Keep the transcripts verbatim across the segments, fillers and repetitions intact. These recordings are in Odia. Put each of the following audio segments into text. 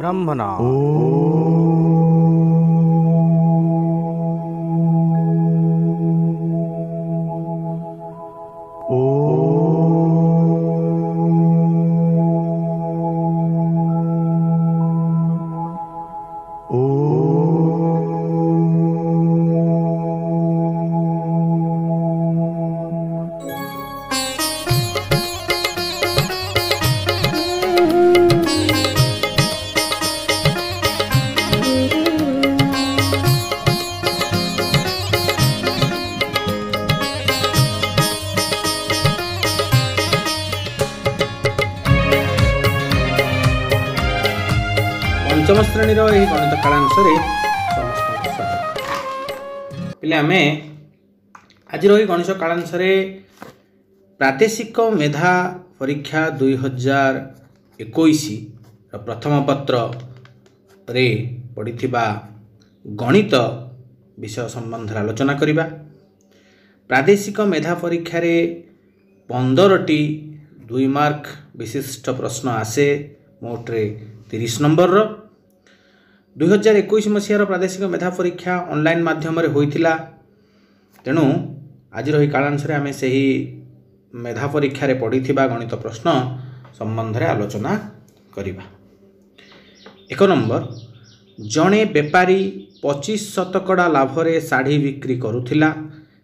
ବ୍ରହ୍ମନାଦ। ପଞ୍ଚମ ଶ୍ରେଣୀର ଏହି ଗଣିତ କାଳାଂଶରେ ସମସ୍ତଙ୍କୁ ସ୍ୱାଗତ। ପିଲେ, ଆମେ ଆଜିର ଏହି ଗଣିତ କାଳାଂଶରେ ପ୍ରାଦେଶିକ ମେଧା ପରୀକ୍ଷା ଦୁଇ ହଜାର ଏକୋଇଶର ପ୍ରଥମ ପତ୍ରରେ ପଡ଼ିଥିବା ଗଣିତ ବିଷୟ ସମ୍ବନ୍ଧରେ ଆଲୋଚନା କରିବା। ପ୍ରାଦେଶିକ ମେଧା ପରୀକ୍ଷାରେ ପନ୍ଦରଟି ଦୁଇ ମାର୍କ ବିଶିଷ୍ଟ ପ୍ରଶ୍ନ ଆସେ, ମୋଟରେ ତିରିଶ ନମ୍ବରର। ଦୁଇ ହଜାର ଏକୋଇଶ ମସିହାର ପ୍ରାଦେଶିକ ମେଧା ପରୀକ୍ଷା ଅନଲାଇନ୍ ମାଧ୍ୟମରେ ହୋଇଥିଲା। ତେଣୁ ଆଜିର ଏହି କାଳାଂଶରେ ଆମେ ସେହି ମେଧା ପରୀକ୍ଷାରେ ପଡ଼ିଥିବା ଗଣିତ ପ୍ରଶ୍ନ ସମ୍ବନ୍ଧରେ ଆଲୋଚନା କରିବା। ଏକ ନମ୍ବର, ଜଣେ ବେପାରୀ ପଚିଶ ଶତକଡ଼ା ଲାଭରେ ଶାଢ଼ୀ ବିକ୍ରି କରୁଥିଲା।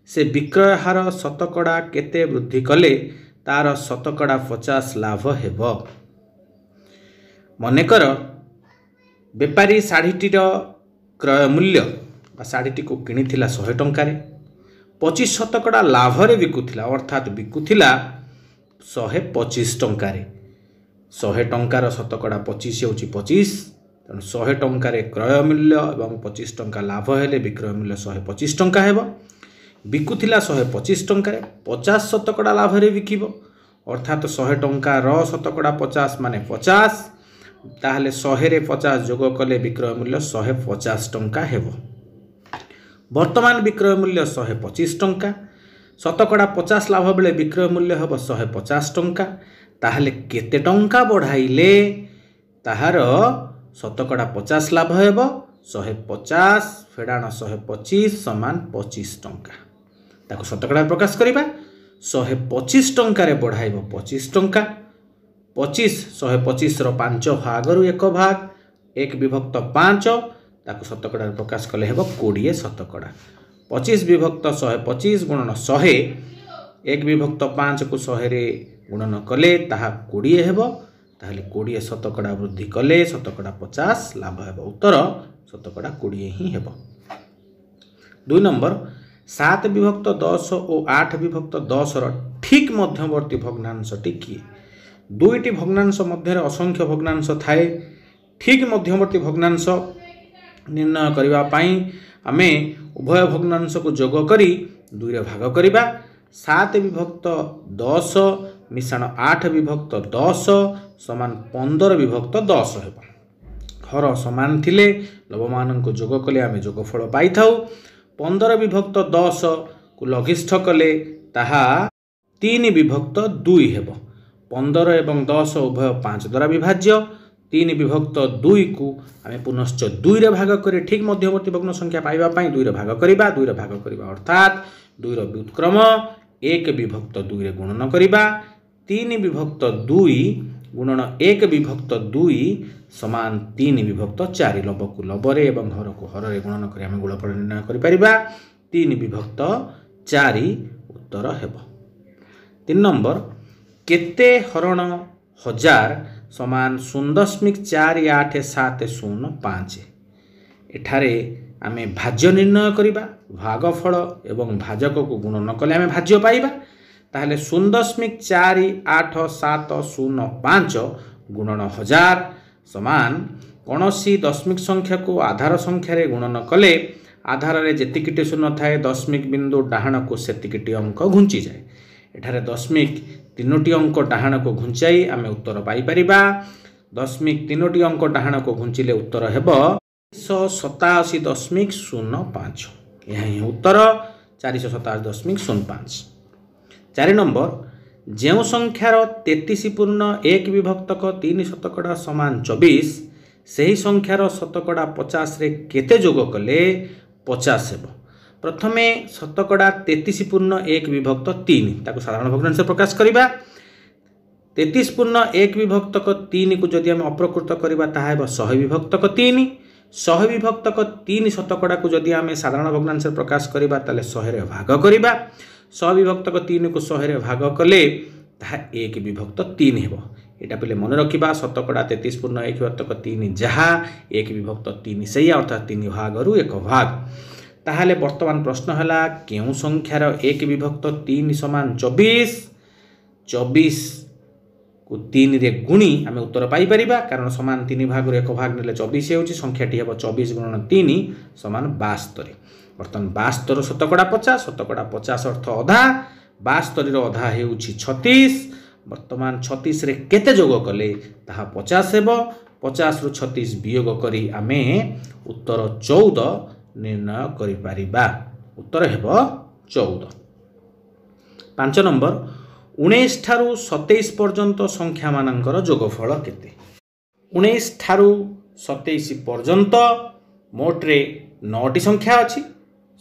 ସେ ବିକ୍ରୟ ହାର ଶତକଡ଼ା କେତେ ବୃଦ୍ଧି କଲେ ତାର ଶତକଡ଼ା ପଚାଶ ଲାଭ ହେବ? ମନେକର ବେପାରୀ ଶାଢ଼ୀଟିର କ୍ରୟ ମୂଲ୍ୟ ବା ଶାଢ଼ୀଟିକୁ କିଣିଥିଲା ଶହେ ଟଙ୍କାରେ, ପଚିଶ ଶତକଡ଼ା ଲାଭରେ ବିକୁଥିଲା, ଅର୍ଥାତ୍ ବିକୁଥିଲା ଶହେ ପଚିଶ ଟଙ୍କାରେ। ଶହେ ଟଙ୍କାର ଶତକଡ଼ା ପଚିଶ ହେଉଛି ପଚିଶ, ତେଣୁ ଶହେ ଟଙ୍କାରେ କ୍ରୟ ମୂଲ୍ୟ ଏବଂ ପଚିଶ ଟଙ୍କା ଲାଭ ହେଲେ ବିକ୍ରୟ ମୂଲ୍ୟ ଶହେ ପଚିଶ ଟଙ୍କା ହେବ। ବିକୁଥିଲା ଶହେ ପଚିଶ ଟଙ୍କାରେ, ପଚାଶ ଶତକଡ଼ା ଲାଭରେ ବିକିବ, ଅର୍ଥାତ୍ ଶହେ ଟଙ୍କାର ଶତକଡ଼ା ପଚାଶ ମାନେ ପଚାଶ। ତାହେଲେ ଶହେରେ ପଚାଶ ଯୋଗ କଲେ ବିକ୍ରୟ ମୂଲ୍ୟ ଶହେ ପଚାଶ ଟଙ୍କା ହେବ। ବର୍ତ୍ତମାନ ବିକ୍ରୟ ମୂଲ୍ୟ ଶହେ ପଚିଶ ଟଙ୍କା, ଶତକଡ଼ା ପଚାଶ ଲାଭ ବେଳେ ବିକ୍ରୟ ମୂଲ୍ୟ ହେବ ଶହେ ପଚାଶ ଟଙ୍କା। ତାହେଲେ କେତେ ଟଙ୍କା ବଢ଼ାଇଲେ ତାହାର ଶତକଡ଼ା ପଚାଶ ଲାଭ ହେବ? ଶହେ ପଚାଶ ଫେଡ଼ାଣ ଶହେ ପଚିଶ ସମାନ ପଚିଶ ଟଙ୍କା। ତାକୁ ଶତକଡ଼ା ପ୍ରକାଶ କରିବା। ଶହେ ପଚିଶ ଟଙ୍କାରେ ବଢ଼ାଇବ ପଚିଶ ଟଙ୍କା, ପଚିଶ ଶହେ ପଚିଶର ପାଞ୍ଚ ଭାଗରୁ ଏକ ଭାଗ, ଏକ ବିଭକ୍ତ ପାଞ୍ଚ, ତାକୁ ଶତକଡ଼ାରେ ପ୍ରକାଶ କଲେ ହେବ କୋଡ଼ିଏ ଶତକଡ଼ା। ପଚିଶ ବିଭକ୍ତ ଶହେ ପଚିଶ ଗୁଣନ ଶହେ, ଏକ ବିଭକ୍ତ ପାଞ୍ଚକୁ ଶହେରେ ଗୁଣନ କଲେ ତାହା କୋଡ଼ିଏ ହେବ। ତାହେଲେ କୋଡ଼ିଏ ଶତକଡ଼ା ବୃଦ୍ଧି କଲେ ଶତକଡ଼ା ପଚାଶ ଲାଭ ହେବ। ଉତ୍ତର ଶତକଡ଼ା କୋଡ଼ିଏ ହିଁ ହେବ। ଦୁଇ ନମ୍ବର, ସାତ ବିଭକ୍ତ ଦଶ ଓ ଆଠ ବିଭକ୍ତ ଦଶର ଠିକ୍ ମଧ୍ୟବର୍ତ୍ତୀ ଭଗ୍ନାଂଶଟି କିଏ? ଦୁଇଟି ଭଗ୍ନାଂଶ ମଧ୍ୟରେ ଅସଂଖ୍ୟ ଭଗ୍ନାଂଶ ଥାଏ। ଠିକ୍ ମଧ୍ୟବର୍ତ୍ତୀ ଭଗ୍ନାଂଶ ନିର୍ଣ୍ଣୟ କରିବା ପାଇଁ ଆମେ ଉଭୟ ଭଗ୍ନାଂଶକୁ ଯୋଗ କରି ଦୁଇରେ ଭାଗ କରିବା। ସାତ ବିଭକ୍ତ ଦଶ ମିଶାଣ ଆଠ ବିଭକ୍ତ ଦଶ ସମାନ ପନ୍ଦର ବିଭକ୍ତ ଦଶ ହେବ। ହର ସମାନ ଥିଲେ ଲବମାନଙ୍କୁ ଯୋଗ କଲେ ଆମେ ଯୋଗଫଳ ପାଇଥାଉ। ପନ୍ଦର ବିଭକ୍ତ ଦଶକୁ ଲଘିଷ୍ଠ କଲେ ତାହା ତିନି ବିଭକ୍ତ ଦୁଇ ହେବ। ପନ୍ଦର ଏବଂ ଦଶ ଉଭୟ ପାଞ୍ଚ ଦ୍ୱାରା ବିଭାଜ୍ୟ। ତିନି ବିଭକ୍ତ ଦୁଇକୁ ଆମେ ପୁନଶ୍ଚ ଦୁଇରେ ଭାଗ କରି ଠିକ୍ ମଧ୍ୟବର୍ତ୍ତୀ ଭଗ୍ନ ସଂଖ୍ୟା ପାଇବା ପାଇଁ ଦୁଇରେ ଭାଗ କରିବା। ଦୁଇରେ ଭାଗ କରିବା ଅର୍ଥାତ୍ ଦୁଇର ବ୍ୟୁତ୍କ୍ରମ ଏକ ବିଭକ୍ତ ଦୁଇରେ ଗୁଣନ କରିବା। ତିନି ବିଭକ୍ତ ଦୁଇ ଗୁଣନ ଏକ ବିଭକ୍ତ ଦୁଇ ସମାନ ତିନି ବିଭକ୍ତ ଚାରି। ଲବକୁ ଲବରେ ଏବଂ ହରକୁ ହରରେ ଗୁଣନ କରି ଆମେ ଗୁଣଫଳ ନିର୍ଣ୍ଣୟ କରିପାରିବା। ତିନି ବିଭକ୍ତ ଚାରି ଉତ୍ତର ହେବ। ତିନି ନମ୍ବର, କେତେ ହରଣ ହଜାର ସମାନ ଶୂନ ଦଶମିକ ଚାରି ଆଠ ସାତ ଶୂନ ପାଞ୍ଚ? ଏଠାରେ ଆମେ ଭାଜ୍ୟ ନିର୍ଣ୍ଣୟ କରିବା। ଭାଗଫଳ ଏବଂ ଭାଜକକୁ ଗୁଣନ କଲେ ଆମେ ଭାଜ୍ୟ ପାଇବା। ତାହେଲେ ଶୂନ ଦଶମିକ ଚାରି ଆଠ ସାତ ଶୂନ ପାଞ୍ଚ ଗୁଣନ ହଜାର ସମାନ କୌଣସି ଦଶମିକ ସଂଖ୍ୟାକୁ ଆଧାର ସଂଖ୍ୟାରେ ଗୁଣନ କଲେ ଆଧାରରେ ଯେତିକିଟି ଶୂନ ଥାଏ ଦଶମିକ ବିନ୍ଦୁ ଡାହାଣକୁ ସେତିକିଟି ଅଙ୍କ ଘୁଞ୍ଚିଯାଏ। ଏଠାରେ ଦଶମିକ ତିନୋଟି ଅଙ୍କ ଡାହାଣକୁ ଘୁଞ୍ଚାଇ ଆମେ ଉତ୍ତର ପାଇପାରିବା। ଦଶମିକ ତିନୋଟି ଅଙ୍କ ଡାହାଣକୁ ଘୁଞ୍ଚିଲେ ଉତ୍ତର ହେବ ଚାରିଶହ ସତାଅଶୀ ଦଶମିକ ଶୂନ ପାଞ୍ଚ। ଏହା ହିଁ ଉତ୍ତର, ଚାରିଶହ ସତାଅଶୀ ଦଶମିକ ଶୂନ ପାଞ୍ଚ। ଚାରି ନମ୍ବର, ଯେଉଁ ସଂଖ୍ୟାର ତେତିଶ ପୂର୍ଣ୍ଣ ଏକ ବିଭକ୍ତକ ତିନି ଶତକଡ଼ା ସମାନ ଚବିଶ, ସେହି ସଂଖ୍ୟାର ଶତକଡ଼ା ପଚାଶରେ କେତେ ଯୋଗ କଲେ ପଚାଶ ହେବ? ପ୍ରଥମେ ଶତକଡ଼ା ତେତିଶ ପୂର୍ଣ୍ଣ ଏକ ବିଭକ୍ତ ତିନି, ତାକୁ ସାଧାରଣ ଭଗ୍ନାଂଶରେ ପ୍ରକାଶ କରିବା। ତେତିଶ ପୂର୍ଣ୍ଣ ଏକ ବିଭକ୍ତକ ତିନିକୁ ଯଦି ଆମେ ଅପ୍ରକୃତ କରିବା, ତାହା ହେବ ଶହେ ବିଭକ୍ତକ ତିନି। ଶହେ ବିଭକ୍ତକ ତିନି ଶତକଡ଼ାକୁ ଯଦି ଆମେ ସାଧାରଣ ଭଗ୍ନାଂଶରେ ପ୍ରକାଶ କରିବା, ତାହେଲେ ଶହେରେ ଭାଗ କରିବା। ଶହେ ବିଭକ୍ତକ ତିନିକୁ ଶହେରେ ଭାଗ କଲେ ତାହା ଏକ ବିଭକ୍ତ ତିନି ହେବ। ଏଇଟା ପିଲେ ମନେ ରଖିବା, ଶତକଡ଼ା ତେତିଶ ପୂର୍ଣ୍ଣ ଏକ ବିଭକ୍ତକ ତିନି ଯାହା, ଏକ ବିଭକ୍ତ ତିନି ସେଇଆ, ଅର୍ଥାତ୍ ତିନି ଭାଗରୁ ଏକ ଭାଗ। ତାହେଲେ ବର୍ତ୍ତମାନ ପ୍ରଶ୍ନ ହେଲା, କେଉଁ ସଂଖ୍ୟାର ଏକ ବିଭକ୍ତ ତିନି ସମାନ ଚବିଶ? ଚବିଶକୁ ତିନିରେ ଗୁଣି ଆମେ ଉତ୍ତର ପାଇପାରିବା, କାରଣ ସମାନ ତିନି ଭାଗରୁ ଏକ ଭାଗ ନେଲେ ଚବିଶ ହେଉଛି। ସଂଖ୍ୟାଟି ହେବ ଚବିଶ ଗୁଣନ ତିନି ସମାନ ବାସ୍ତରୀ। ବର୍ତ୍ତମାନ ବାସ୍ତର ଶତକଡ଼ା ପଚାଶ, ଶତକଡ଼ା ପଚାଶ ଅର୍ଥ ଅଧା, ବାସ୍ତରୀର ଅଧା ହେଉଛି ଛତିଶ। ବର୍ତ୍ତମାନ ଛତିଶରେ କେତେ ଯୋଗ କଲେ ତାହା ପଚାଶ ହେବ? ପଚାଶରୁ ଛତିଶ ବିୟୋଗ କରି ଆମେ ଉତ୍ତର ଚଉଦ ନିର୍ଣ୍ଣୟ କରିପାରିବା। ଉତ୍ତର ହେବ ଚଉଦ। ପାଞ୍ଚ ନମ୍ବର, ଉଣେଇଶ ଠାରୁ ସତେଇଶ ପର୍ଯ୍ୟନ୍ତ ସଂଖ୍ୟାମାନଙ୍କର ଯୋଗଫଳ କେତେ? ଉଣେଇଶ ଠାରୁ ସତେଇଶ ପର୍ଯ୍ୟନ୍ତ ମୋଟରେ ନଅଟି ସଂଖ୍ୟା ଅଛି।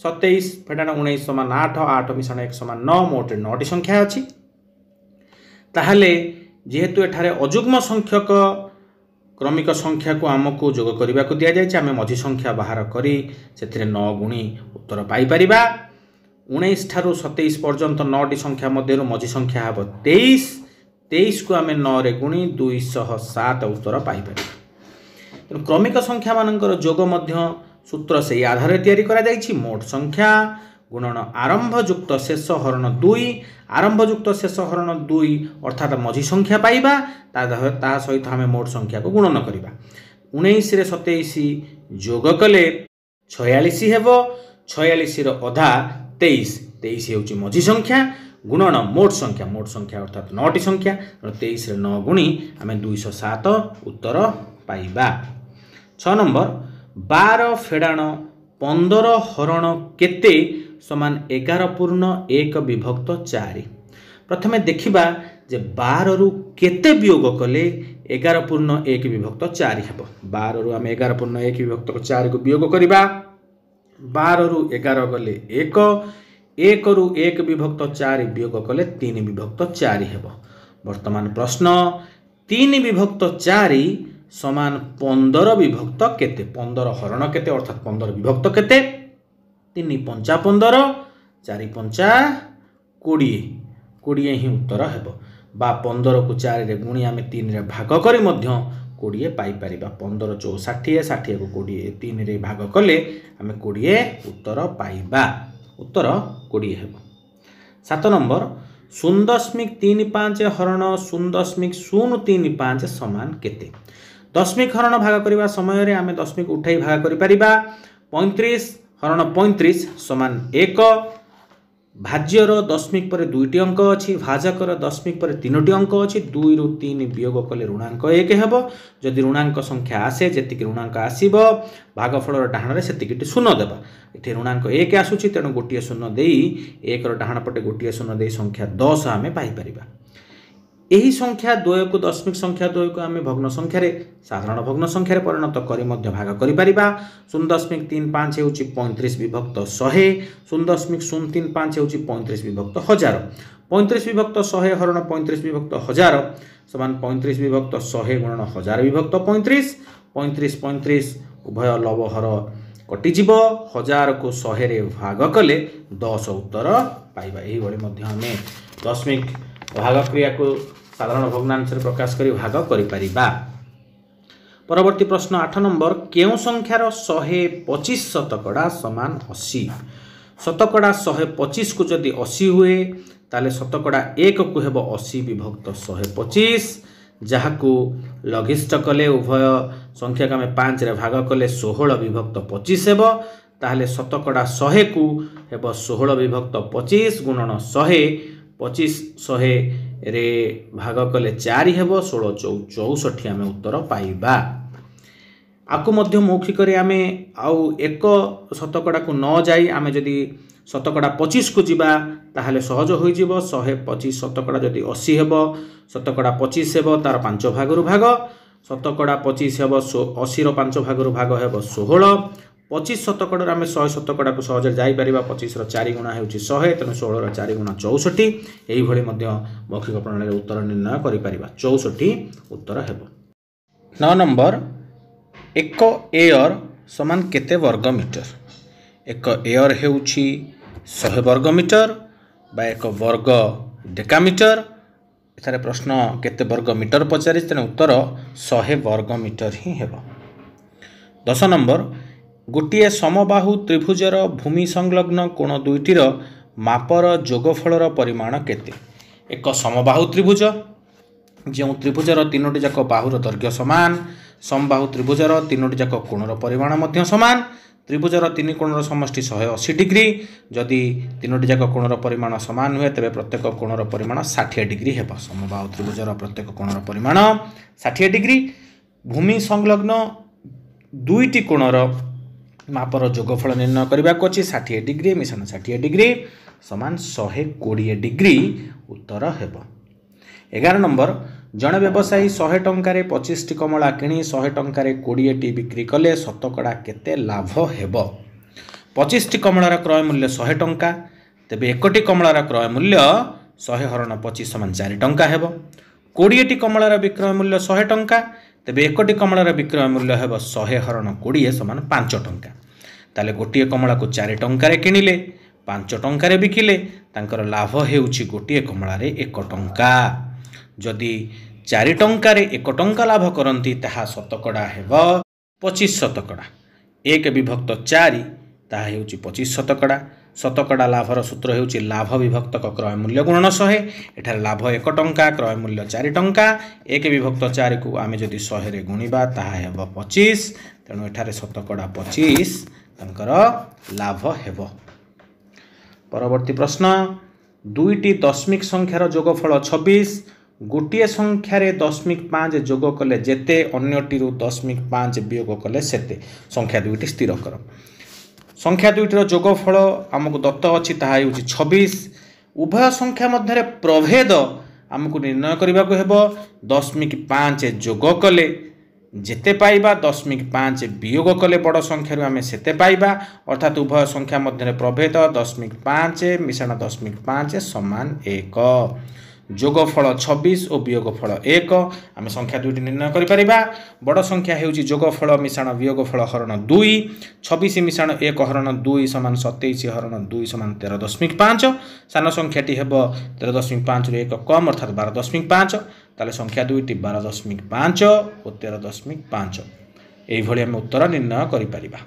ସତେଇଶ ଫେଡ଼ାଣ ଉଣେଇଶ ସମାନ ଆଠ, ଆଠ ମିଶାଣ ଏକ ସମାନ ନଅ, ମୋଟରେ ନଅଟି ସଂଖ୍ୟା ଅଛି। ତାହେଲେ ଯେହେତୁ ଏଠାରେ ଅଯୁଗ୍ମ ସଂଖ୍ୟକ କ୍ରମିକ ସଂଖ୍ୟାକୁ ଆମକୁ ଯୋଗ କରିବାକୁ ଦିଆଯାଇଛି, ଆମେ ମଝି ସଂଖ୍ୟା ବାହାର କରି ସେଥିରେ ନଅ ଗୁଣି ଉତ୍ତର ପାଇପାରିବା। ଉଣେଇଶ ଠାରୁ ସତେଇଶ ପର୍ଯ୍ୟନ୍ତ ନଅଟି ସଂଖ୍ୟା ମଧ୍ୟରୁ ମଝି ସଂଖ୍ୟା ହେବ ତେଇଶ। ତେଇଶକୁ ଆମେ ନଅରେ ଗୁଣି ଦୁଇଶହ ସାତ ଉତ୍ତର ପାଇପାରିବା। ତେଣୁ କ୍ରମିକ ସଂଖ୍ୟାମାନଙ୍କର ଯୋଗ ମଧ୍ୟ ସୂତ୍ର ସେଇ ଆଧାରରେ ତିଆରି କରାଯାଇଛି, ମୋଟ ସଂଖ୍ୟା ଗୁଣନ ଆରମ୍ଭଯୁକ୍ତ ଶେଷ ହରଣ ଦୁଇ। ଆରମ୍ଭଯୁକ୍ତ ଶେଷ ହରଣ ଦୁଇ ଅର୍ଥାତ୍ ମଝି ସଂଖ୍ୟା ପାଇବା, ତା ସହିତ ଆମେ ମୋଟ ସଂଖ୍ୟାକୁ ଗୁଣନ କରିବା। ଉଣେଇଶରେ ସତେଇଶ ଯୋଗ କଲେ ଛୟାଳିଶ ହେବ। ଛୟାଳିଶର ଅଧା ତେଇଶ, ତେଇଶ ହେଉଛି ମଝି ସଂଖ୍ୟା, ଗୁଣନ ମୋଟ ସଂଖ୍ୟା, ମୋଟ ସଂଖ୍ୟା ଅର୍ଥାତ୍ ନଅଟି ସଂଖ୍ୟା, ତେଣୁ ତେଇଶରେ ନଅ ଗୁଣି ଆମେ ଦୁଇଶହ ସାତ ଉତ୍ତର ପାଇବା। ଛଅ ନମ୍ବର, ବାର ଫେଡ଼ାଣ ପନ୍ଦର ହରଣ କେତେ ସମାନ ଏଗାର ପୂର୍ଣ୍ଣ ଏକ ବିଭକ୍ତ ଚାରି? ପ୍ରଥମେ ଦେଖିବା ଯେ ବାରରୁ କେତେ ବିୟୋଗ କଲେ ଏଗାର ପୂର୍ଣ୍ଣ ଏକ ବିଭକ୍ତ ଚାରି ହେବ। ବାରରୁ ଆମେ ଏଗାର ପୂର୍ଣ୍ଣ ଏକ ବିଭକ୍ତ ଚାରିକୁ ବିୟୋଗ କରିବା। ବାରରୁ ଏଗାର ଗଲେ ଏକ, ଏକରୁ ଏକ ବିଭକ୍ତ ଚାରି ବିୟୋଗ କଲେ ତିନି ବିଭକ୍ତ ଚାରି ହେବ। ବର୍ତ୍ତମାନ ପ୍ରଶ୍ନ, ତିନି ବିଭକ୍ତ ଚାରି ସମାନ ପନ୍ଦର ବିଭକ୍ତ କେତେ? ପନ୍ଦର ହରଣ କେତେ ଅର୍ଥାତ୍ ପନ୍ଦର ବିଭକ୍ତ କେତେ? ତିନି ପଞ୍ଚା ପନ୍ଦର, ଚାରି ପଞ୍ଚା କୋଡ଼ିଏ, କୋଡ଼ିଏ ହିଁ ଉତ୍ତର ହେବ। ବା ପନ୍ଦରକୁ ଚାରିରେ ଗୁଣି ଆମେ ତିନିରେ ଭାଗ କରି ମଧ୍ୟ କୋଡ଼ିଏ ପାଇପାରିବା। ପନ୍ଦର ଚଉ ଷାଠିଏ, ଷାଠିଏକୁ କୋଡ଼ିଏ ତିନିରେ ଭାଗ କଲେ ଆମେ କୋଡ଼ିଏ ଉତ୍ତର ପାଇବା। ଉତ୍ତର କୋଡ଼ିଏ ହେବ। ସାତ ନମ୍ବର, ଶୂନ ଦଶମିକ ତିନି ପାଞ୍ଚ ହରଣ ଶୂନ ଦଶମିକ ଶୂନ ତିନି ପାଞ୍ଚ ସମାନ କେତେ? ଦଶମିକ ହରଣ ଭାଗ କରିବା ସମୟରେ ଆମେ ଦଶମିକ ଉଠାଇ ଭାଗ କରିପାରିବା। ପଇଁତିରିଶ ହରଣ ପଇଁତିରିଶ ସମାନ ଏକ। ଭାଜ୍ୟର ଦଶମିକ ପରେ ଦୁଇଟି ଅଙ୍କ ଅଛି, ଭାଜକର ଦଶମିକ ପରେ ତିନୋଟି ଅଙ୍କ ଅଛି। ଦୁଇରୁ ତିନି ବିୟୋଗ କଲେ ଋଣାଙ୍କ ଏକ ହେବ। ଯଦି ଋଣାଙ୍କ ସଂଖ୍ୟା ଆସେ, ଯେତିକି ଋଣାଙ୍କ ଆସିବ ଭାଗଫଳର ଡାହାଣରେ ସେତିକିଟି ଶୂନ ଦେବା। ଏଠି ଋଣାଙ୍କ ଏକ ଆସୁଛି, ତେଣୁ ଗୋଟିଏ ଶୂନ ଦେଇ, ଏକର ଡାହାଣ ପଟେ ଗୋଟିଏ ଶୂନ ଦେଇ ସଂଖ୍ୟା ଦଶ ଆମେ ପାଇପାରିବା। ଏହି ସଂଖ୍ୟା ଦ୍ୱୟକୁ, ଦଶମିକ ସଂଖ୍ୟା ଦ୍ୱୟକୁ ଆମେ ଭଗ୍ନ ସଂଖ୍ୟାରେ, ସାଧାରଣ ଭଗ୍ନ ସଂଖ୍ୟାରେ ପରିଣତ କରି ମଧ୍ୟ ଭାଗ କରିପାରିବା। ଶୂନ ଦଶମିକ ତିନି ପାଞ୍ଚ ହେଉଛି ପଇଁତିରିଶ ବିଭକ୍ତ ଶହେ, ଶୂନ ଦଶମିକ ଶୂନ ତିନି ପାଞ୍ଚ ହେଉଛି ପଇଁତିରିଶ ବିଭକ୍ତ ହଜାର। ପଇଁତିରିଶ ବିଭକ୍ତ ଶହେ ହରଣ ପଇଁତିରିଶ ବିଭକ୍ତ ହଜାର ସମାନ ପଇଁତିରିଶ ବିଭକ୍ତ ଶହେ ଗୁଣନ ହଜାର ବିଭକ୍ତ ପଇଁତିରିଶ। ପଇଁତିରିଶ ପଇଁତିରିଶ ଉଭୟ ଲବ ହର କଟିଯିବ, ହଜାରକୁ ଶହେରେ ଭାଗ କଲେ ଦଶ ଉତ୍ତର ପାଇବା। ଏହିଭଳି ମଧ୍ୟ ଆମେ ଦଶମିକ ଭାଗ କ୍ରିୟାକୁ ସାଧାରଣ ଭଗ୍ନାଂଶରେ ପ୍ରକାଶ କରି ଭାଗ କରିପାରିବା। ପରବର୍ତ୍ତୀ ପ୍ରଶ୍ନ ଆଠ ନମ୍ବର, କେଉଁ ସଂଖ୍ୟାର ଶହେ ପଚିଶ ଶତକଡ଼ା ସମାନ ଅଶୀ? ଶତକଡ଼ା ଶହେ ପଚିଶକୁ ଯଦି ଅଶୀ ହୁଏ, ତାହେଲେ ଶତକଡ଼ା ଏକକୁ ହେବ ଅଶୀ ବିଭକ୍ତ ଶହେ ପଚିଶ, ଯାହାକୁ ଲଘିଷ୍ଠ କଲେ ଉଭୟ ସଂଖ୍ୟାକୁ ଆମେ ପାଞ୍ଚରେ ଭାଗ କଲେ ଷୋହଳ ବିଭକ୍ତ ପଚିଶ ହେବ। ତାହେଲେ ଶତକଡ଼ା ଶହେକୁ ହେବ ଷୋହଳ ବିଭକ୍ତ ପଚିଶ ଗୁଣନ ଶହେ, ପଚିଶ ଶହେରେ ଭାଗ କଲେ ଚାରି ହେବ, ଷୋହଳ ଚଉ ଚଉଷଠି ଆମେ ଉତ୍ତର ପାଇବା। ଆକୁ ମଧ୍ୟ ମୌଖିକରେ ଆମେ ଆଉ ଏକ ଶତକଡ଼ାକୁ ନ ଯାଇ ଆମେ ଯଦି ଶତକଡ଼ା ପଚିଶକୁ ଯିବା, ତାହେଲେ ସହଜ ହୋଇଯିବ। ଶହେ ପଚିଶ ଶତକଡ଼ା ଯଦି ଅଶୀ ହେବ, ଶତକଡ଼ା ପଚିଶ ହେବ ତାର ପାଞ୍ଚ ଭାଗରୁ ଭାଗ। ଶତକଡ଼ା ପଚିଶ ହେବ ଅଶୀର ପାଞ୍ଚ ଭାଗରୁ ଭାଗ ହେବ ଷୋହଳ। ପଚିଶ ଶତକଡ଼ାରୁ ଆମେ ଶହେ ଶତକଡ଼ାକୁ ସହଜରେ ଯାଇପାରିବା। ପଚିଶର ଚାରି ଗୁଣା ହେଉଛି ଶହେ, ତେଣୁ ଷୋହଳର ଚାରି ଗୁଣା ଚଉଷଠି। ଏଇଭଳି ମଧ୍ୟ ମୌଖିକ ପ୍ରଣାଳୀରେ ଉତ୍ତର ନିର୍ଣ୍ଣୟ କରିପାରିବା। ଚଉଷଠି ଉତ୍ତର ହେବ। ନଅ ନମ୍ବର, ଏକ ଏୟର ସମାନ କେତେ ବର୍ଗ ମିଟର? ଏକ ଏୟର ହେଉଛି ଶହେ ବର୍ଗ ମିଟର ବା ଏକ ବର୍ଗ ଡେକାମିଟର। ଏଠାରେ ପ୍ରଶ୍ନ କେତେ ବର୍ଗ ମିଟର ପଚାରିଛି, ତେଣୁ ଉତ୍ତର ଶହେ ବର୍ଗ ମିଟର ହିଁ ହେବ। ଦଶ ନମ୍ବର, ଗୋଟିଏ ସମବାହୁ ତ୍ରିଭୁଜର ଭୂମି ସଂଲଗ୍ନ କୋଣ ଦୁଇଟିର ମାପର ଯୋଗଫଳର ପରିମାଣ କେତେ? ଏକ ସମବାହୁ ତ୍ରିଭୁଜ, ଯେଉଁ ତ୍ରିଭୁଜର ତିନୋଟି ଯାକ ବାହୁର ଦୈର୍ଘ୍ୟ ସମାନ, ସମବାହୁ ତ୍ରିଭୁଜର ତିନୋଟି ଯାକ କୋଣର ପରିମାଣ ମଧ୍ୟ ସମାନ। ତ୍ରିଭୁଜର ତିନି କୋଣର ସମଷ୍ଟି ଶହେ ଅଶୀ ଡିଗ୍ରୀ। ଯଦି ତିନୋଟି ଯାକ କୋଣର ପରିମାଣ ସମାନ ହୁଏ, ତେବେ ପ୍ରତ୍ୟେକ କୋଣର ପରିମାଣ ଷାଠିଏ ଡିଗ୍ରୀ ହେବ। ସମବାହୁ ତ୍ରିଭୁଜର ପ୍ରତ୍ୟେକ କୋଣର ପରିମାଣ ଷାଠିଏ ଡିଗ୍ରୀ। ଭୂମି ସଂଲଗ୍ନ ଦୁଇଟି କୋଣର ମାପର ଯୋଗଫଳ ନିର୍ଣ୍ଣୟ କରିବାକୁ ଅଛି। ଷାଠିଏ ଡିଗ୍ରୀ ମିଶାଣ ଷାଠିଏ ଡିଗ୍ରୀ ସମାନ ଶହେ କୋଡ଼ିଏ ଡିଗ୍ରୀ ଉତ୍ତର ହେବ। ଏଗାର ନମ୍ବର, ଜଣେ ବ୍ୟବସାୟୀ ଶହେ ଟଙ୍କାରେ ପଚିଶଟି କମଳା କିଣି ଶହେ ଟଙ୍କାରେ କୋଡ଼ିଏଟି ବିକ୍ରି କଲେ ଶତକଡ଼ା କେତେ ଲାଭ ହେବ? ପଚିଶଟି କମଳାର କ୍ରୟ ମୂଲ୍ୟ ଶହେ ଟଙ୍କା, ତେବେ ଏକଟି କମଳାର କ୍ରୟ ମୂଲ୍ୟ ଶହେ ହରଣ ପଚିଶ ସମାନ ଚାରି ଟଙ୍କା ହେବ। କୋଡ଼ିଏଟି କମଳାର ବିକ୍ରୟ ମୂଲ୍ୟ ଶହେ ଟଙ୍କା, ତେବେ ଏକଟି କମଳାର ବିକ୍ରୟ ମୂଲ୍ୟ ହେବ ଶହେ ହରଣ କୋଡ଼ିଏ ସମାନ ପାଞ୍ଚ ଟଙ୍କା। ତାହେଲେ ଗୋଟିଏ କମଳାକୁ ଚାରି ଟଙ୍କାରେ କିଣିଲେ, ପାଞ୍ଚ ଟଙ୍କାରେ ବିକିଲେ, ତାଙ୍କର ଲାଭ ହେଉଛି ଗୋଟିଏ କମଳାରେ ଏକ ଟଙ୍କା। ଯଦି ଚାରି ଟଙ୍କାରେ ଏକ ଟଙ୍କା ଲାଭ କରନ୍ତି, ତାହା ଶତକଡ଼ା ହେବ ପଚିଶ ଶତକଡ଼ା। ଏକ ବିଭକ୍ତ ଚାରି ତାହା ହେଉଛି ପଚିଶ ଶତକଡ଼ା। ଶତକଡ଼ା ଲାଭର ସୂତ୍ର ହେଉଛି ଲାଭ ବିଭକ୍ତକ କ୍ରୟ ମୂଲ୍ୟ ଗୁଣନ ଶହେ। ଏଠାରେ ଲାଭ ଏକ ଟଙ୍କା, କ୍ରୟ ମୂଲ୍ୟ ଚାରି ଟଙ୍କା। ଏକ ବିଭକ୍ତ ଚାରିକୁ ଆମେ ଯଦି ଶହେରେ ଗୁଣିବା ତାହା ହେବ ପଚିଶ। ତେଣୁ ଏଠାରେ ଶତକଡ଼ା ପଚିଶ ତାଙ୍କର ଲାଭ ହେବ। ପରବର୍ତ୍ତୀ ପ୍ରଶ୍ନ, ଦୁଇଟି ଦଶମିକ ସଂଖ୍ୟାର ଯୋଗଫଳ ଛବିଶ। ଗୋଟିଏ ସଂଖ୍ୟାରେ ଦଶମିକ ପାଞ୍ଚ ଯୋଗ କଲେ ଯେତେ, ଅନ୍ୟଟିରୁ ଦଶମିକ ପାଞ୍ଚ ବିୟୋଗ କଲେ ସେତେ, ସଂଖ୍ୟା ଦୁଇଟି ସ୍ଥିର କର। ସଂଖ୍ୟା ଦୁଇଟିର ଯୋଗଫଳ ଆମକୁ ଦତ୍ତ ଅଛି, ତାହା ହେଉଛି ଛବିଶ। ଉଭୟ ସଂଖ୍ୟା ମଧ୍ୟରେ ପ୍ରଭେଦ ଆମକୁ ନିର୍ଣ୍ଣୟ କରିବାକୁ ହେବ। ଦଶମିକ ପାଞ୍ଚ ଯୋଗ କଲେ ଯେତେ ପାଇବା, ଦଶମିକ ପାଞ୍ଚ ବିୟୋଗ କଲେ ବଡ଼ ସଂଖ୍ୟାରୁ ଆମେ ସେତେ ପାଇବା। ଅର୍ଥାତ୍ ଉଭୟ ସଂଖ୍ୟା ମଧ୍ୟରେ ପ୍ରଭେଦ ଦଶମିକ ପାଞ୍ଚ ମିଶାଣ ଦଶମିକ ପାଞ୍ଚ ସମାନ ଏକ। ଯୋଗଫଳ ଛବିଶ ଓ ବିୟୋଗଫଳ ଏକ, ଆମେ ସଂଖ୍ୟା ଦୁଇଟି ନିର୍ଣ୍ଣୟ କରିପାରିବା। ବଡ଼ ସଂଖ୍ୟା ହେଉଛି ଯୋଗଫଳ ମିଶାଣ ବିୟୋଗଫଳ ହରଣ ଦୁଇ। ଛବିଶ ମିଶାଣ ଏକ ହରଣ ଦୁଇ ସମାନ ସତେଇଶ ହରଣ ଦୁଇ ସମାନ ତେର ଦଶମିକ ପାଞ୍ଚ। ସାନ ସଂଖ୍ୟାଟି ହେବ ତେର ଦଶମିକ ପାଞ୍ଚରୁ ଏକ କମ୍, ଅର୍ଥାତ୍ ବାର ଦଶମିକ ପାଞ୍ଚ। ତାହେଲେ ସଂଖ୍ୟା ଦୁଇଟି ବାର ଦଶମିକ ପାଞ୍ଚ ଓ ତେର ଦଶମିକ ପାଞ୍ଚ। ଏଇଭଳି ଆମେ ଉତ୍ତର ନିର୍ଣ୍ଣୟ କରିପାରିବା।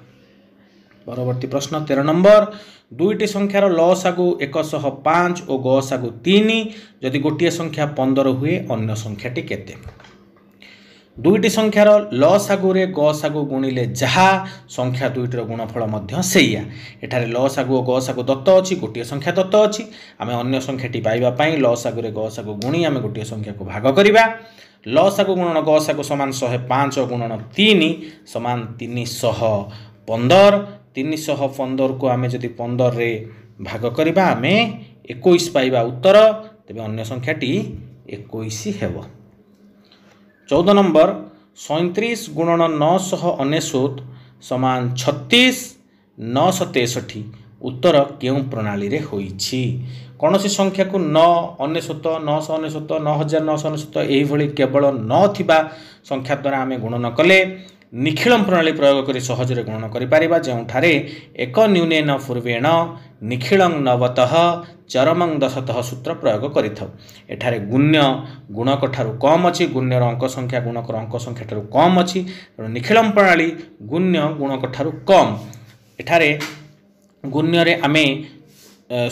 ପରବର୍ତ୍ତୀ ପ୍ରଶ୍ନ ତେର ନମ୍ବର, ଦୁଇଟି ସଂଖ୍ୟାର ଲସାଗୁ ଏକଶହ ପାଞ୍ଚ ଓ ଗସାଗୁ ତିନି। ଯଦି ଗୋଟିଏ ସଂଖ୍ୟା ପନ୍ଦର ହୁଏ, ଅନ୍ୟ ସଂଖ୍ୟାଟି କେତେ? ଦୁଇଟି ସଂଖ୍ୟାର ଲସାଗୁରେ ଗସାଗୁ ଗୁଣିଲେ ଯାହା, ସଂଖ୍ୟା ଦୁଇଟିର ଗୁଣଫଳ ମଧ୍ୟ ସେଇଆ। ଏଠାରେ ଲସାଗୁ ଓ ଗସାଗୁ ଦତ୍ତ ଅଛି, ଗୋଟିଏ ସଂଖ୍ୟା ଦତ୍ତ ଅଛି। ଆମେ ଅନ୍ୟ ସଂଖ୍ୟାଟି ପାଇବା ପାଇଁ ଲସାଗୁରେ ଗସାଗୁ ଗୁଣି ଆମେ ଗୋଟିଏ ସଂଖ୍ୟାକୁ ଭାଗ କରିବା। ଲସାଗୁ ଗୁଣନ ଗସାଗୁ ସମାନ ଶହେ ପାଞ୍ଚ ଗୁଣନ ତିନି ସମାନ ତିନିଶହ ପନ୍ଦର। ତିନିଶହ ପନ୍ଦରକୁ ଆମେ ଯଦି ପନ୍ଦରରେ ଭାଗ କରିବା, ଆମେ ଏକୋଇଶ ପାଇବା ଉତ୍ତର। ତେବେ ଅନ୍ୟ ସଂଖ୍ୟାଟି ଏକୋଇଶ ହେବ। ଚଉଦ ନମ୍ବର, ସଇଁତିରିଶ ଗୁଣନ ନଅଶହ ଅନେଶ୍ୱତ ସମାନ ଛତିଶ ନଅଶହ ତେଷଠି, ଉତ୍ତର କେଉଁ ପ୍ରଣାଳୀରେ ହୋଇଛି? କୌଣସି ସଂଖ୍ୟାକୁ ନଅ ଅନେଶ୍ୱତ, ନଅଶହ ଅନେଶ୍ୱତ, ନଅ ହଜାର ନଅଶହ ଅନେଶ୍ୱତ ଏହିଭଳି କେବଳ ନଅ ଥିବା ସଂଖ୍ୟା ଦ୍ୱାରା ଆମେ ଗୁଣନ କଲେ ନିଖିଳମ ପ୍ରଣାଳୀ ପ୍ରୟୋଗ କରି ସହଜରେ ଗୁଣନ କରିପାରିବା, ଯେଉଁଠାରେ ଏକ ନ୍ୟୁନେନ ପୂର୍ବେଣ ନିଖିଳଂ ନବତଃ ଚରମଂ ଦଶତଃ ସୂତ୍ର ପ୍ରୟୋଗ କରିଥାଉ। ଏଠାରେ ଗୁଣ୍ୟ ଗୁଣକ ଠାରୁ କମ୍ ଅଛି, ଗୁଣ୍ୟର ଅଙ୍କ ସଂଖ୍ୟା ଗୁଣକର ଅଙ୍କ ସଂଖ୍ୟା ଠାରୁ କମ୍ ଅଛି। ତେଣୁ ନିଖିଳମ ପ୍ରଣାଳୀ ଗୁଣ୍ୟ ଗୁଣକ ଠାରୁ କମ୍। ଏଠାରେ ଗୁଣ୍ୟରେ ଆମେ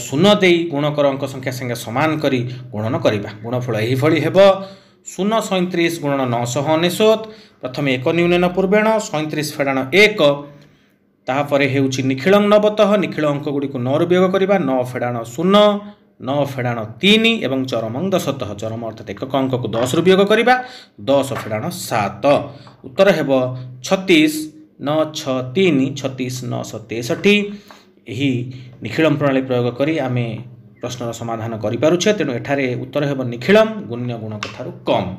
ଶୂନ ଦେଇ ଗୁଣକର ଅଙ୍କ ସଂଖ୍ୟା ସାଙ୍ଗେ ସମାନ କରି ଗୁଣନ କରିବା। ଗୁଣଫଳ ଏହିଭଳି ହେବ, ଶୂନ ସଇଁତିରିଶ ଗୁଣନ ନଅଶହ ଅନେଶ୍ୱତ। ପ୍ରଥମେ ଏକ ନ୍ୟୁନେନ ପୂର୍ବେଣ ସଇଁତିରିଶ ଫେଡ଼ାଣ ଏକ, ତାପରେ ହେଉଛି ନିଖିଳଂ ନବତଃ, ନିଖିଳ ଅଙ୍କ ଗୁଡ଼ିକୁ ନଅରୁ ବିୟୋଗ କରିବା, ନଅ ଫେଡ଼ାଣ ଶୂନ, ନଅ ଫେଡ଼ାଣ ତିନି ଏବଂ ଚରମଂ ଦଶତଃ, ଚରମ ଅର୍ଥାତ୍ ଏକକ ଅଙ୍କକୁ ଦଶରୁ ବିୟୋଗ କରିବା, ଦଶ ଫେଡ଼ାଣ ସାତ। ଉତ୍ତର ହେବ ଛତିଶ ନଅ ଛଅ ତିନି, ଛତିଶ ନଅଶହ ତେଷଠି। ଏହି ନିଖିଳମ ପ୍ରଣାଳୀ ପ୍ରୟୋଗ କରି ଆମେ ପ୍ରଶ୍ନର ସମାଧାନ କରିପାରୁଛେ। ତେଣୁ ଏଠାରେ ଉତ୍ତର ହେବ ନିଖିଳମ, ଗୁଣ୍ୟ ଗୁଣକ ଠାରୁ କମ୍।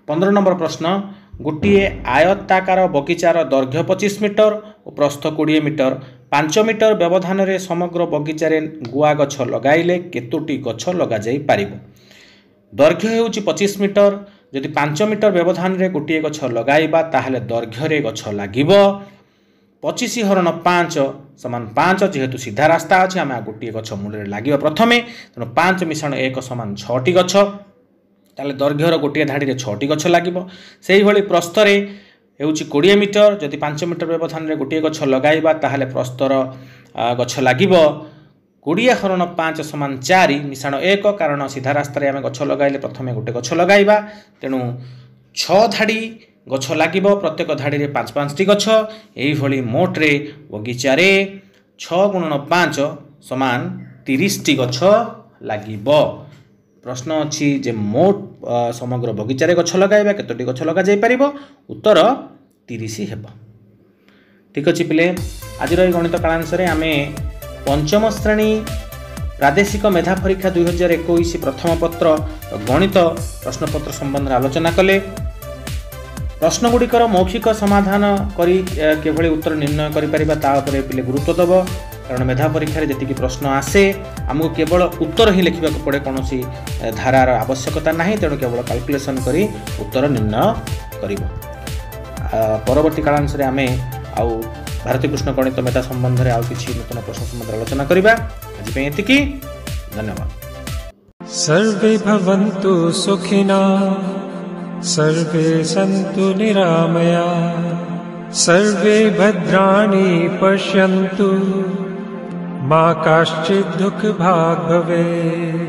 ପନ୍ଦର ନମ୍ବର ପ୍ରଶ୍ନ, ଗୋଟିଏ ଆୟତାକାର ବଗିଚାର ଦୈର୍ଘ୍ୟ ପଚିଶ ମିଟର ଓ ପ୍ରସ୍ଥ କୋଡ଼ିଏ ମିଟର। ପାଞ୍ଚ ମିଟର ବ୍ୟବଧାନରେ ସମଗ୍ର ବଗିଚାରେ ଗୁଆ ଗଛ ଲଗାଇଲେ କେତୋଟି ଗଛ ଲଗାଯାଇ ପାରିବ? ଦୈର୍ଘ୍ୟ ହେଉଛି ପଚିଶ ମିଟର। ଯଦି ପାଞ୍ଚ ମିଟର ବ୍ୟବଧାନରେ ଗୋଟିଏ ଗଛ ଲଗାଇବା, ତାହେଲେ ଦୈର୍ଘ୍ୟରେ ଗଛ ଲାଗିବ ପଚିଶ ହରଣ ପାଞ୍ଚ ସମାନ ପାଞ୍ଚ। ଯେହେତୁ ସିଧା ରାସ୍ତା ଅଛି, ଆମେ ଆଉ ଗୋଟିଏ ଗଛ ମୂଳରେ ଲାଗିବ ପ୍ରଥମେ, ତେଣୁ ପାଞ୍ଚ ମିଶାଣ ଏକ ସମାନ ଛଅଟି ଗଛ। ତାହେଲେ ଦୈର୍ଘ୍ୟର ଗୋଟିଏ ଧାଡ଼ିରେ ଛଅଟି ଗଛ ଲାଗିବ। ସେଇଭଳି ପ୍ରସ୍ଥରେ ହେଉଛି କୋଡ଼ିଏ ମିଟର। ଯଦି ପାଞ୍ଚ ମିଟର ବ୍ୟବଧାନରେ ଗୋଟିଏ ଗଛ ଲଗାଇବା, ତାହେଲେ ପ୍ରସ୍ତର ଗଛ ଲାଗିବ କୋଡ଼ିଏ ହରଣ ପାଞ୍ଚ ସମାନ ଚାରି ମିଶାଣ ଏକ, କାରଣ ସିଧା ରାସ୍ତାରେ ଆମେ ଗଛ ଲଗାଇଲେ ପ୍ରଥମେ ଗୋଟେ ଗଛ ଲଗାଇବା। ତେଣୁ ଛଅ ଧାଡ଼ି ଗଛ ଲାଗିବ, ପ୍ରତ୍ୟେକ ଧାଡ଼ିରେ ପାଞ୍ଚ ପାଞ୍ଚଟି ଗଛ। ଏଇଭଳି ମୋଟରେ ବଗିଚାରେ ଛଅ ଗୁଣନ ପାଞ୍ଚ ସମାନ ତିରିଶଟି ଗଛ ଲାଗିବ। ପ୍ରଶ୍ନ ଅଛି ଯେ ମୋଟ ସମଗ୍ର ବଗିଚାରେ ଗଛ ଲଗାଇବା କେତୋଟି ଗଛ ଲଗାଯାଇପାରିବ? ଉତ୍ତର ତିରିଶ ହେବ। ଠିକ୍ ଅଛି ପିଲେ, ଆଜିର ଏହି ଗଣିତ କାଳାଂଶରେ ଆମେ ପଞ୍ଚମ ଶ୍ରେଣୀ ପ୍ରାଦେଶିକ ମେଧା ପରୀକ୍ଷା ଦୁଇହଜାର ଏକୋଇଶ ପ୍ରଥମ ପତ୍ର ଗଣିତ ପ୍ରଶ୍ନପତ୍ର ସମ୍ବନ୍ଧରେ ଆଲୋଚନା କଲେ। ପ୍ରଶ୍ନଗୁଡ଼ିକର ମୌଖିକ ସମାଧାନ କରି କିଭଳି ଉତ୍ତର ନିର୍ଣ୍ଣୟ କରିପାରିବା ତା ଉପରେ ପିଲେ ଗୁରୁତ୍ୱ ଦେବ, କାରଣ ମେଧା ପରୀକ୍ଷାରେ ଯେତିକି ପ୍ରଶ୍ନ ଆସେ ଆମକୁ କେବଳ ଉତ୍ତର ହିଁ ଲେଖିବାକୁ ପଡ଼େ, କୌଣସି ଧାରାର ଆବଶ୍ୟକତା ନାହିଁ। ତେଣୁ କେବଳ କାଲକୁଲେସନ୍ କରି ଉତ୍ତର ନିର୍ଣ୍ଣୟ କରିବ। ପରବର୍ତ୍ତୀ କାଳାଂଶରେ ଆମେ ଆଉ ଭାରତୀକୃଷ୍ଣ ଗଣିତ ମେଧା ସମ୍ବନ୍ଧରେ ଆଉ କିଛି ନୂତନ ପ୍ରଶ୍ନ ସମ୍ବନ୍ଧରେ ଆଲୋଚନା କରିବା। ଆଜି ପାଇଁ ଏତିକି, ଧନ୍ୟବାଦ। ସର୍ବେ ଭବନ୍ତୁ ସୁଖିନଃ, ସର୍ବେ ସନ୍ତୁ ନିରାମୟା, ସର୍ବେ ଭଦ୍ରାଣि ପଶ୍ୟନ୍ତୁ, ମା କାଶ୍ଚିଦ୍ ଦୁଃଖ ଭାଗ୍ ଭବେत्।